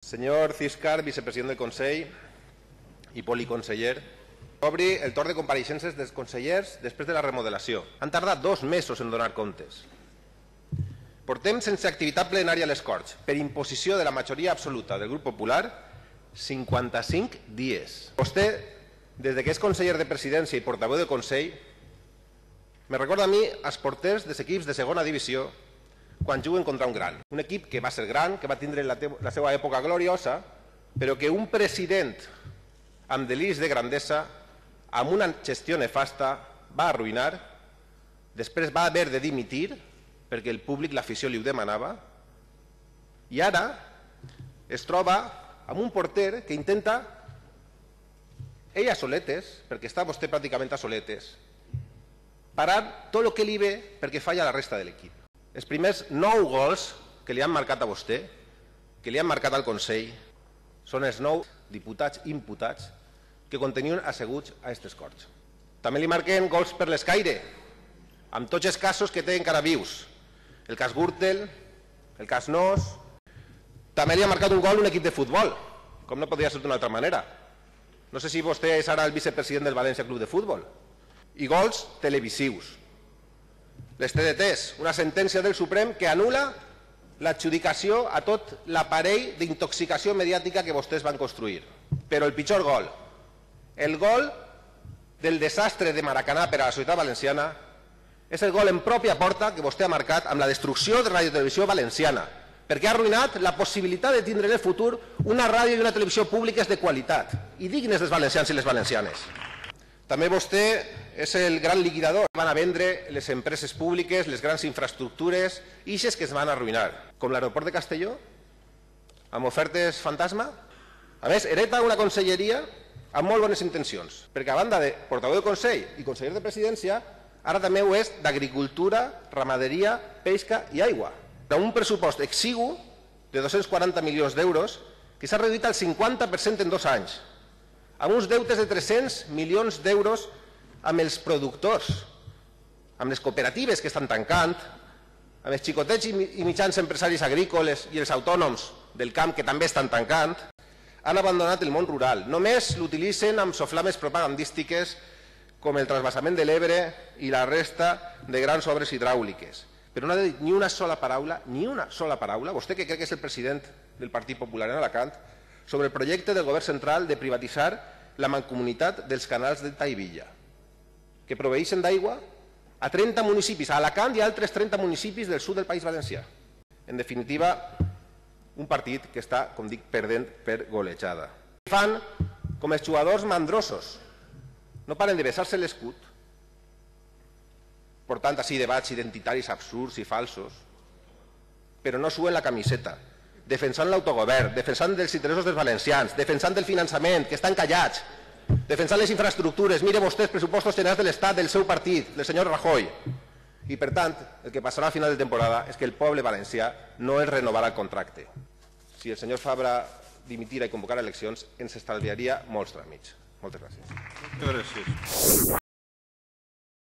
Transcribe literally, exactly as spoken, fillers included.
Senyor Ciscar, vicepresident del Consell i policonseller, obri el torn de compareixences dels consellers després de la remodelació. Han tardat dos mesos en donar comptes. Portem sense activitat plenària a les Corts, per imposició de la majoria absoluta del grup popular, cinquanta-cinc dies. Vostè, des que és conseller de presidència i portaveu del Consell, me recorda a mi els porters dels equips de segona divisió quan juguen contra un gran. Un equip que va ser gran, que va tindre la, la seva època gloriosa, però que un president amb deliris de grandesa, amb una gestió nefasta, va arruïnar, després va haver de dimitir, perquè el públic, l'afició li ho demanava, i ara es troba amb un porter que intenta, ell a soletes, perquè està vostè pràcticament a soletes, parar tot el que li ve perquè falla la resta de l'equip. Els primers nou gols que li han marcat a vostè, que li han marcat al Consell, són els nou diputats imputats que continuen asseguts a aquestes Corts. També li marquen gols per l'escaire, amb tots els casos que té encara vius. El cas Gürtel, el cas Nos. També li ha marcat un gol un equip de futbol, com no podria ser d'una altra manera. No sé si vostè és ara el vicepresident del València Club de Futbol. I gols televisius. Les T D Ts, una sentència del Suprem que anul·la l'adjudicació a tot l'aparell d'intoxicació mediàtica que vostès van construir. Però el pitjor gol, el gol del desastre de Maracanà per a la societat valenciana, és el gol en pròpia porta que vostè ha marcat amb la destrucció de Ràdio Televisió Valenciana, perquè ha arruïnat la possibilitat de tindre en el futur una ràdio i una televisió públiques de qualitat i dignes dels valencians i les valencianes. També vostè és el gran liquidador. Van a vendre les empreses públiques, les grans infraestructures, ixes que es van arruïnar, com l'aeroport de Castelló, amb ofertes fantasma. A més, hereta una conselleria amb molt bones intencions, perquè a banda de portaveu del Consell i conseller de Presidència, ara també ho és d'agricultura, ramaderia, pesca i aigua. Amb un pressupost exigu de dos-cents quaranta milions d'euros que s'ha reduït al cinquanta per cent en dos anys, amb uns deutes de tres-cents milions d'euros amb els productors, amb les cooperatives que estan tancant, amb els xicotets i mitjans empresaris agrícoles i els autònoms del camp que també estan tancant. Han abandonat el món rural. Només l'utilitzen amb soflames propagandístiques com el transvasament de l'Ebre i la resta de grans obres hidràuliques. Però no ha dit ni una sola paraula, ni una sola paraula, vostè que crec que és el president del Partit Popular en Alacant, sobre el projecte del govern central de privatitzar la mancomunitat dels canals de Taivilla, que proveeixen d'aigua a trenta municipis, a Alacant i a altres trenta municipis del sud del País Valencià. En definitiva, un partit que està, com dic, perdent per golejada. Fan com els jugadors mandrosos, no paren de besar-se l'escut, portant així debats identitaris absurds i falsos, però no suen la camiseta, defensant l'autogovern, defensant els interessos dels valencians, defensant el finançament, que estan callats, defensant les infraestructures. Mire vostè els pressupostos generals de l'Estat del seu partit, del senyor Rajoy. I, per tant, el que passarà a final de temporada és que el poble valencià no es renovarà el contracte. Si el senyor Fabra dimitira i convocara eleccions, ens estalviaria molts tràmits. Moltes gràcies. Gràcies.